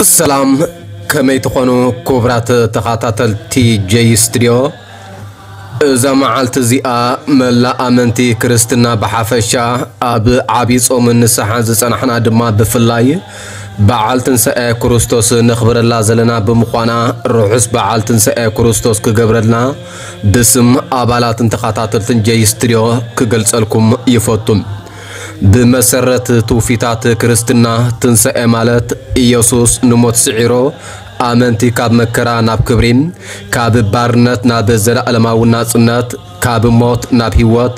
ሰላም፣ ከመይ ትኾኑ ክቡራት ተኸታተልቲ ጀይ ስቱድዮ? እዛ መዓልቲ እዚኣ መላእ ኣመንቲ ክርስትና ብሓፈሻ፣ ኣብ ዓብዪ ጾምን ንስሓን ዝጸናሕና ድማ ብፍላይ በዓል ትንሳኤ ክርስቶስ ነኽብረላ ዘለና ብምዃና፣ ርሑስ በዓል ትንሳኤ ክርስቶስ ክገብረልና ብስም ኣባላትን ተኸታተልትን ጀይ ስቱድዮ ክገልጸልኩም ይፈቱ። ብመሰረት ትውፊታት ክርስትና፣ ትንሳኤ ማለት ኢየሱስ ንሞት ስዒሩ ኣመንቲ ካብ መከራ ናብ ክብሪ፣ ካብ ባርነት ናብ ዘለኣለማዊ ናጽነት፣ ካብ ሞት ናብ ህይወት፣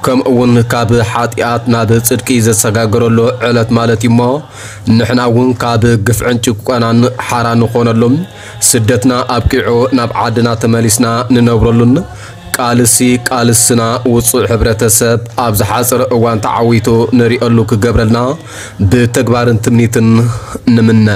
ከምኡ እውን ካብ ሓጢኣት ናብ ጽድቂ ዘሰጋገረሉ ዕለት ማለት እዩ እሞ፣ ንሕና እውን ካብ ግፍዕን ጭቆናን ሓራ ንኾነሉ፣ ስደትና ኣብቂዑ ናብ ዓድና ተመሊስና ንነብረሉን፣ ቃልሲ ቃልስና ውጹዕ ሕብረተሰብ ኣብ ዝሓጸረ እዋን ተዓዊቱ ንሪኦሉ ክገብረልና ብተግባርን ትምኒትን ንምነ።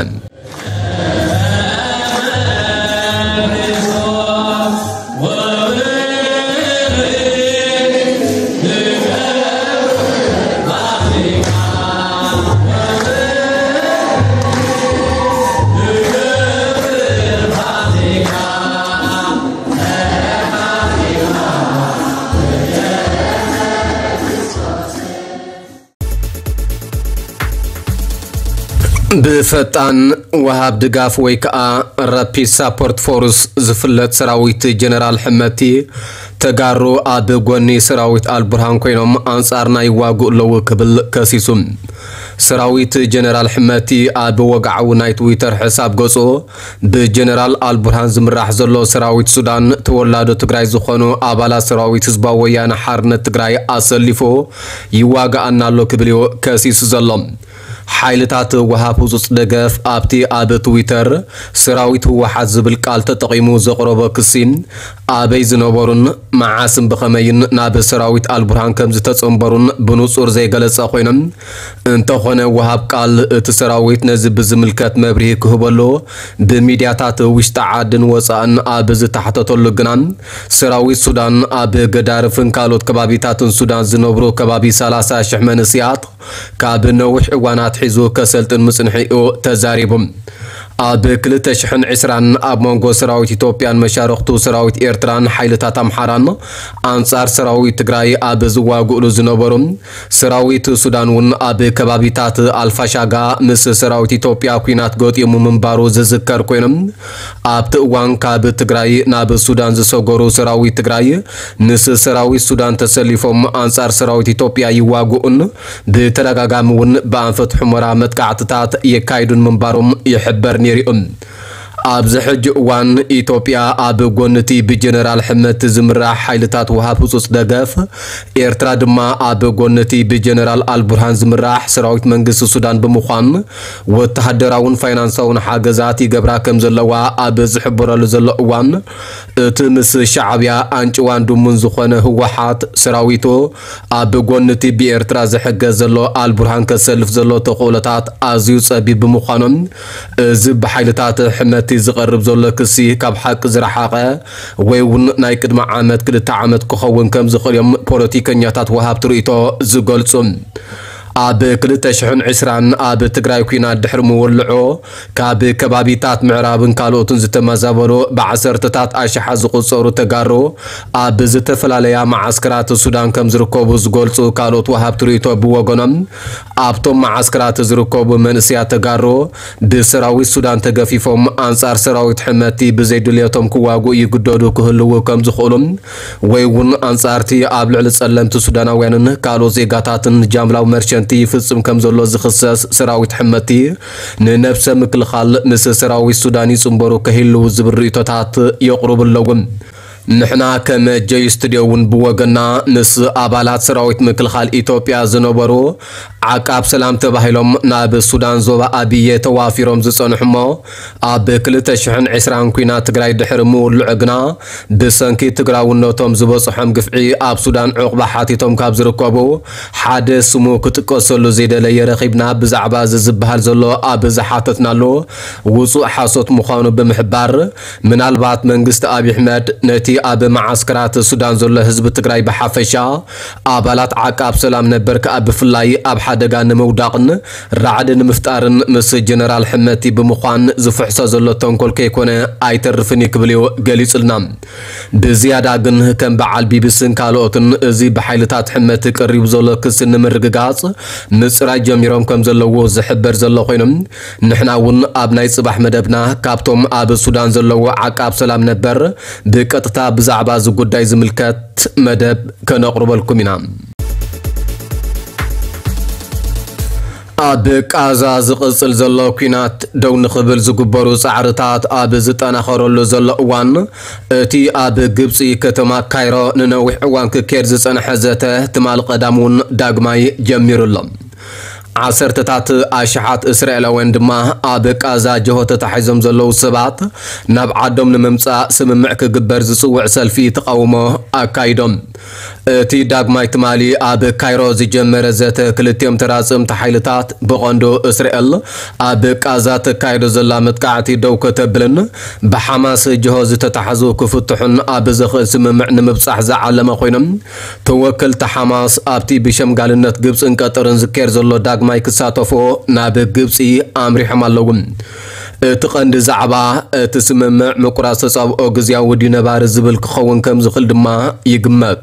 ብፈጣን ወሃብ ድጋፍ ወይ ከዓ ራፒድ ሳፖርት ፎርስ ዝፍለጥ ሰራዊት ጀነራል ሕመቲ፣ ተጋሩ ኣብ ጎኒ ሰራዊት ኣልቡርሃን ኮይኖም ኣንጻርና ይዋግኡ ኣለዉ ክብል ከሲሱ። ሰራዊት ጀነራል ሕመቲ ኣብ ወግዓዊ ናይ ትዊተር ሕሳብ ገጹ፣ ብጀነራል ኣልቡርሃን ዝምራሕ ዘሎ ሰራዊት ሱዳን ተወላዶ ትግራይ ዝኾኑ ኣባላት ሰራዊት ህዝባዊ ወያነ ሓርነት ትግራይ ኣሰሊፉ ይዋግኣና ኣሎ ክብል እዩ ከሲሱ ዘሎ። ሓይልታት ወሃብ ህጹጽ ደገፍ ኣብቲ ኣብ ትዊተር ሰራዊት ህወሓት ዝብል ቃል ተጠቒሙ ዘቕረቦ ክሲ፣ ኣበይ ዝነበሩን መዓስን ብኸመይን ናብ ሰራዊት ኣልቡርሃን ከም ዝተጸንበሩን ብንጹር ዘይገለጸ ኮይኖም፣ እንተኾነ ወሃብ ቃል እቲ ሰራዊት ነዚ ብዝምልከት መብርሂ ክህበሉ ብሚድያታት ውሽጢ ዓድን ወጻእን ኣብ ዝተሓተተሉ ግና፣ ሰራዊት ሱዳን ኣብ ገዳርፍን ካልኦት ከባቢታትን ሱዳን ዝነብሩ ከባቢ ሰላሳ ሽሕ መንእሰያት ካብ ነዊሕ እዋን ኣትሒዙ ከሰልጥን ምጽንሒኡ ተዛሪቡ። ኣብ ክልተ ሽሕን ዕስራን ኣብ መንጎ ሰራዊት ኢትዮጵያን መሻርኽቱ ሰራዊት ኤርትራን ሓይልታት ኣምሓራን ኣንጻር ሰራዊት ትግራይ ኣብ ዝዋግእሉ ዝነበሩ ሰራዊት ሱዳን እውን ኣብ ከባቢታት ኣልፋሻጋ ምስ ሰራዊት ኢትዮጵያ ኲናት ገጢሙ ምንባሩ ዝዝከር ኮይኑ፣ ኣብቲ እዋን ካብ ትግራይ ናብ ሱዳን ዝሰገሩ ሰራዊት ትግራይ ምስ ሰራዊት ሱዳን ተሰሊፎም ኣንጻር ሰራዊት ኢትዮጵያ ይዋግኡን ብተደጋጋሚ እውን ብኣንፈት ሑመራ መጥቃዕትታት የካይዱን ምንባሮም ይሕበር ነይሩ እዩ። ኣብዚ ሕጂ እዋን ኢትዮጵያ ኣብ ጎኒ እቲ ብጀነራል ሕመቲ ዝምራሕ ሓይልታት ወሃብ ህጹጽ ደገፍ፣ ኤርትራ ድማ ኣብ ጎኒ እቲ ብጀነራል ኣልቡርሃን ዝምራሕ ሰራዊት መንግስቲ ሱዳን ብምዃን ወተሃደራውን ፋይናንሳውን ሓገዛት ይገብራ ከም ዘለዋ ኣብ ዝሕበረሉ ዘሎ እዋን፣ እቲ ምስ ሻዕብያ ኣንጭዋን ድሙን ዝኾነ ህወሓት ሰራዊቱ ኣብ ጎኒ እቲ ብኤርትራ ዝሕገዝ ዘሎ ኣልቡርሃን ከሰልፍ ዘሎ ተኽእሎታት ኣዝዩ ጸቢብ ብምዃኑ፣ እዚ ብሓይልታት ሕመቲ ዝቐርብ ዘሎ ክሲ ካብ ሓቂ ዝረሓቐ ወይ እውን ናይ ቅድሚ ዓመት ክልተ ዓመት ክኸውን ከም ዝኽእል እዮም ፖለቲከኛታት ወሃብቲ ርእይቶ ዝገልጹ። ኣብ ክልተ ሽሕን ዕስራን ኣብ ትግራይ ኲናት ድሕሪ ምውልዑ፣ ካብ ከባቢታት ምዕራብን ካልኦትን ዝተመዛበሉ ብዓሰርተታት ኣሽሓት ዝቑጸሩ ተጋሩ ኣብ ዝተፈላለያ መዓስከራት ሱዳን ከም ዝርከቡ ዝገልጹ ካልኦት ወሃብቲ ርእይቶ ብወገኖም፣ ኣብቶም መዓስከራት ዝርከቡ መንእሰያት ተጋሩ ብሰራዊት ሱዳን ተገፊፎም ኣንጻር ሰራዊት ሕመቲ ብዘይድልየቶም ክዋግኡ ይግደዱ ክህልዉ ከም ዝኽእሉ ወይ እውን ኣንጻርቲ ኣብ ልዕሊ ጸለምቲ ሱዳናውያንን ካልኦት ዜጋታትን ጃምላዊ መርሸንቲ ይፍጽም ከም ዘሎ ዝኽሰስ ሰራዊት ሕመቲ፣ ንነብሰ ምክልኻል ምስ ሰራዊት ሱዳን ይጽንበሩ ከህልዉ ዝብል ርእይቶታት የቕርቡ ኣለዉ። ንሕና ከም ጀይ ስቱድዮ እውን ብወገና ምስ ኣባላት ሰራዊት ምክልኻል ኢትዮጵያ ዝነበሩ ዓቃብ ሰላም ተባሂሎም ናብ ሱዳን ዞባ ኣብየ ተዋፊሮም ዝጸንሑ እሞ፣ ኣብ ክልተ ሽሕን ዕስራን ኲናት ትግራይ ድሕሪ ምውልዑ ግና ብሰንኪ ትግራውነቶም ዝበጽሖም ግፍዒ ኣብ ሱዳን ዕቑባ ሓቲቶም ካብ ዝርከቡ ሓደ ስሙ ክጥቀሰሉ ዘይደለየ ረኺብና ብዛዕባ እዚ ዝበሃል ዘሎ ኣብ ዝሓተትናሉ ውጹእ ሓሶት ምዃኑ ብምሕባር፣ ምናልባት መንግስቲ ኣብይ ኣሕመድ ነቲ ኣብ መዓስከራት ሱዳን ዘሎ ህዝቢ ትግራይ ብሓፈሻ፣ ኣባላት ዓቃብ ሰላም ነበር ከኣ ብፍላይ ኣብ ሓደጋ ንምውዳቕን ራዕዲ ንምፍጣርን ምስ ጀነራል ሕመቲ ብምዃን ዝፍሕሶ ዘሎ ተንኮል ከይኮነ ኣይተርፍን እዩ ክብል እዩ ገሊጹልና። ብዝያዳ ግን ከም በዓል ቢቢስን ካልኦትን እዚ ብሓይልታት ሕመቲ ቀሪቡ ዘሎ ክሲ ንምርግጋጽ ምጽራይ ጀሚሮም ከም ዘለዉ ዝሕበር ዘሎ ኮይኖም፣ ንሕና እውን ኣብ ናይ ጽባሕ መደብና ካብቶም ኣብ ሱዳን ዘለዉ ዓቃብ ሰላም ነበር ብቀጥታ ብዛዕባ እዚ ጉዳይ ዝምልከት መደብ ከነቕርበልኩም ኢና። ኣብ ቃዛ ዝቕጽል ዘሎ ኲናት ደው ንኽብል ዝግበሩ ጻዕርታት ኣብ ዝጠናኸረሉ ዘሎ እዋን፣ እቲ ኣብ ግብጺ ከተማ ካይሮ ንነዊሕ እዋን ክካየድ ዝጸንሐ ዘተ ትማል ቀዳም እውን ዳግማይ ጀሚሩ ኣሎ። ዓሰርተታት ኣሽሓት እስራኤላውያን ድማ ኣብ ቃዛ ጅሆ ተታሒዞም ዘለዉ ሰባት ናብ ዓዶም ንምምጻእ ስምምዕ ክግበር ዝጽውዕ ሰልፊ ተቓውሞ ኣካይዶም። እቲ ዳግማይ ትማሊ ኣብ ካይሮ ዝጀመረ ዘተ ክልቲኦም ተራጸምቲ ሓይልታት ብቐንዱ እስራኤል ኣብ ቃዛ ተካይዶ ዘላ መጥቃዕቲ ደው ከተብልን ብሓማስ ጅሆ ዝተታሕዙ ክፍትሑን ኣብ ዘኽእል ስምምዕ ንምብጻሕ ዝዓለመ ኮይኖም ተወከልቲ ሓማስ ኣብቲ ብሸምጋልነት ግብጽን ቀጠርን ዝካየድ ዘሎ ዳግማይ ክሳተፎ ናብ ግብጺ ኣምሪሖም ኣለዉ። እቲ ቀንዲ ዛዕባ እቲ ስምምዕ ምቁራጽ ተጻብኦ ግዝያዊ ድዩ ነባሪ ዝብል ክኸውን ከም ዝኽእል ድማ ይግመት።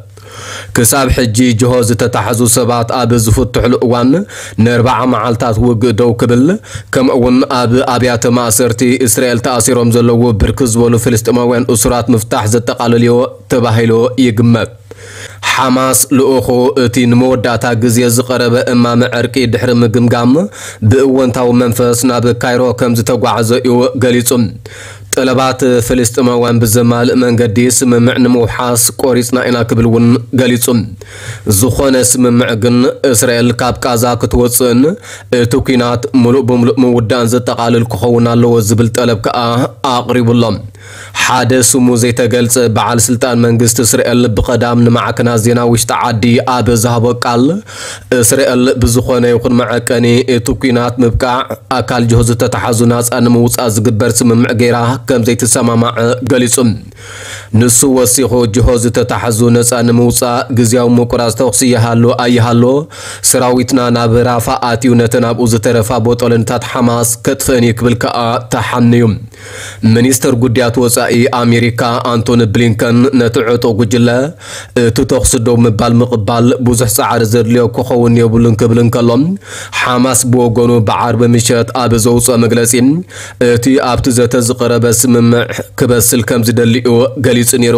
ክሳብ ሕጂ ጅሆ ዝተታሕዙ ሰባት ኣብ ዝፍትሕሉ እዋን ንኣርባዓ መዓልታት ውግእ ደው ክብል፣ ከምኡ እውን ኣብ ኣብያተ ማእሰርቲ እስራኤል ተኣሲሮም ዘለዉ ብርክት ዝበሉ ፍልስጤማውያን እሱራት ምፍታሕ ዘጠቓልል እዩ ተባሂሉ ይግመት። ሓማስ ልኡኹ እቲ ንመወዳእታ ግዜ ዝቐረበ እማመ ዕርቂ ድሕሪ ምግምጋም ብእወንታዊ መንፈስ ናብ ካይሮ ከም ዝተጓዓዘ እዩ ገሊጹ። ጠለባት ፍልስጤማውያን ብዘማልእ መንገዲ ስምምዕ ንምውሓስ ቆሪጽና ኢና ክብል እውን ገሊጹ። ዝኾነ ስምምዕ ግን እስራኤል ካብ ቃዛ ክትወጽእን እቲ ኲናት ምሉእ ብምሉእ ምውዳእን ዘጠቓልል ክኸውን ኣለዎ ዝብል ጠለብ ከኣ ኣቕሪቡ ኣሎ። ሓደ ስሙ ዘይተገልጸ በዓል ስልጣን መንግስቲ እስራኤል ብቐዳም ንማዕከናት ዜና ውሽጢ ዓዲ ኣብ ዝሃቦ ቃል፣ እስራኤል ብዝኾነ ይኹን መዐቀኒ እቲ ኲናት ምብቃዕ ኣካል ጅሆ ዝተታሕዙ ናጻ ንምውጻእ ዝግበር ስምምዕ ገይራ ከም ዘይትሰማማዕ ገሊጹ። ንሱ ወሲኹ፣ ጅሆ ዝተታሕዙ ነጻ ንምውጻእ ግዝያዊ ምቁራጽ ተኹሲ ይሃሉ ኣይሃሉ፣ ሰራዊትና ናብ ራፋ ኣትዩ ነተን ኣብኡ ዝተረፋ ቦጦለንታት ሓማስ ከጥፍእን እዩ ክብል ከኣ ተሓንዩ። ሚኒስተር ጉዳያት ወጻኢ ኣሜሪካ ኣንቶኒ ብሊንከን ነቲ ዕጡቕ ጉጅለ እቲ ተኹሲ ደው ምባል ምቕባል ብዙሕ ጻዕሪ ዘድልዮ ክኸውን የብሉን ክብል እንከሎ፣ ሓማስ ብወገኑ ብዓርቢ ምሸት ኣብ ዘውጽኦ መግለጺ እቲ ኣብቲ ዘተ ዝቐረበ ስምምዕ ክበስል ከም ዝደሊ እዩ ገሊጹ ነይሩ።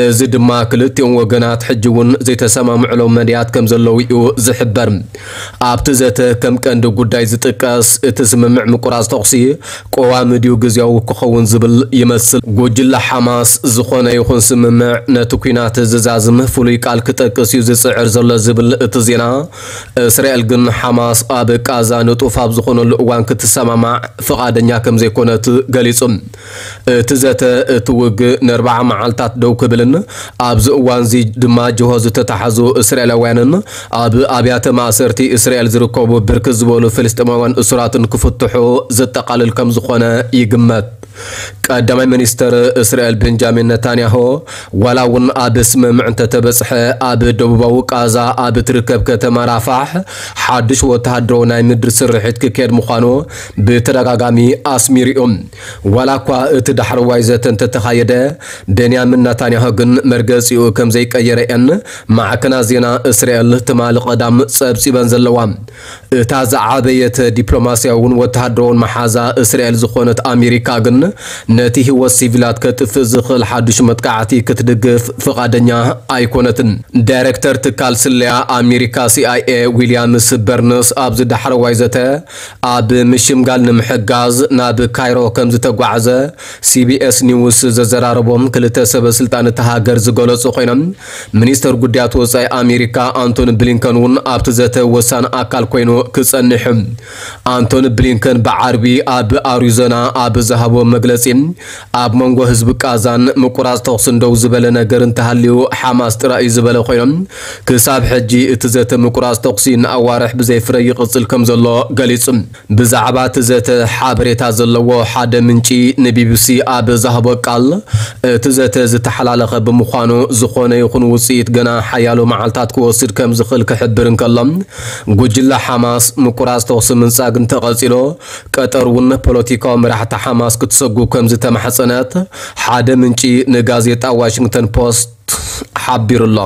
እዚ ድማ ክልቲኦም ወገናት ሕጂ እውን ዘይተሰማምዕሎም መድያት ከም ዘለዉ እዩ ዝሕበር። ኣብቲ ዘተ ከም ቀንዲ ጉዳይ ዝጥቀስ እቲ ስምምዕ ምቁራጽ ተኹሲ ቀዋሚ ድዩ ግዝያዊ ክኸውን ዝብል ይመስል። ጉጅለ ሓማስ ዝኾነ ይኹን ስምምዕ ነቲ ኲናት ዝዛዝም ፍሉይ ቃል ክጠቅስ እዩ ዝጽዕር ዘሎ ዝብል እቲ ዜና፣ እስራኤል ግን ሓማስ ኣብ ቃዛ ንጡፍ ኣብ ዝኾነሉ እዋን ክትሰማማዕ ፍቓደኛ ከም ዘይኮነት ገሊጹ። እቲ ዘተ እቲ ውግእ ንኣርባዓ መዓልታት ደው ክብልን ኣብዚ እዋንዚ ድማ ጅሆ ዝተታሕዙ እስራኤላውያንን ኣብ ኣብያተ ማእሰርቲ እስራኤል ዝርከቡ ብርክት ዝበሉ ፍልስጤማውያን እሱራትን ክፍትሑ ዘጠቓልል ከም ዝኾነ ይግመት። ቀዳማይ ሚኒስተር እስራኤል ቤንጃሚን ነታንያሆ ዋላ እውን ኣብ ስምምዕ እንተተበጽሐ፣ ኣብ ደቡባዊ ቃዛ ኣብ እትርከብ ከተማ ራፋሕ ሓድሽ ወተሃደራዊ ናይ ምድሪ ስርሒት ክካየድ ምዃኑ ብተደጋጋሚ ኣስሚሩ እዩ። ዋላ እኳ እቲ ዳሕረዋይ ዘተ እንተተኻየደ፣ ቤንያሚን ናታንያሁ ግን መርገጺኡ ከም ዘይቀየረ እየን ማዕከናት ዜና እስራኤል ትማሊ ቀዳም ጸብጺበን ዘለዋ። እታ ዝዓበየት ዲፕሎማስያውን ወተሃደራውን መሓዛ እስራኤል ዝኾነት ኣሜሪካ ግን ነቲ ህይወት ሲቪላት ከጥፍእ ዝኽእል ሓድሽ መጥቃዕቲ ክትድግፍ ፍቓደኛ ኣይኮነትን። ዳይሬክተር ትካል ስለያ ኣሜሪካ ሲ ኣይ ኤ ዊልያምስ በርንስ ኣብዚ ዳሕረዋይ ዘተ ኣብ ምሽምጋል ንምሕጋዝ ናብ ካይሮ ከም ዝተጓዕዘ ሲ ቢ ኤስ ኒውስ ዘዘራረቦም ክልተ ሰበ ስልጣን እታ ሃገር ዝገለጹ ኮይኖም፣ ሚኒስተር ጉዳያት ወጻኢ ኣሜሪካ ኣንቶኒ ብሊንከን እውን ኣብቲ ዘተ ወሳኒ ኣካል ኮይኑ ክጸንሕ እዩ። ኣንቶኒ ብሊንከን ብዓርቢ ኣብ ኣሪዞና ኣብ ዝሃቦ መግለጺ፣ ኣብ መንጎ ህዝቢ ቃዛን ምቁራጽ ተኹስን ደው ዝበለ ነገር እንተሃልዩ ሓማስ ጥራይ እዩ ዝበለ ኮይኖም፣ ክሳብ ሕጂ እቲ ዘተ ምቁራጽ ተኹሲ ንኣዋርሕ ብዘይ ፍረ ይቕጽል ከም ዘሎ ገሊጹ። ብዛዕባ እቲ ዘተ ሓበሬታ ዘለዎ ሓደ ምንጪ ንቢቢሲ ኣብ ዝሃቦ ቃል፣ እቲ ዘተ ዝተሓላለኸ ብምዃኑ ዝኾነ ይኹን ውጽኢት ገና ሓያሎ መዓልታት ክወስድ ከም ዝኽእል ክሕብር እንከሎ፣ ጉጅለ ሓማስ ምቁራጽ ተኹሲ ምንጻግ እንተቐጺሎ፣ ቀጠር እውን ፖለቲካዊ መራሕቲ ሓማስ ክትሰጉ ከም ዝተማሕጸነት ሓደ ምንጪ ንጋዜጣ ዋሽንግተን ፖስት ሓቢሩ ኣሎ።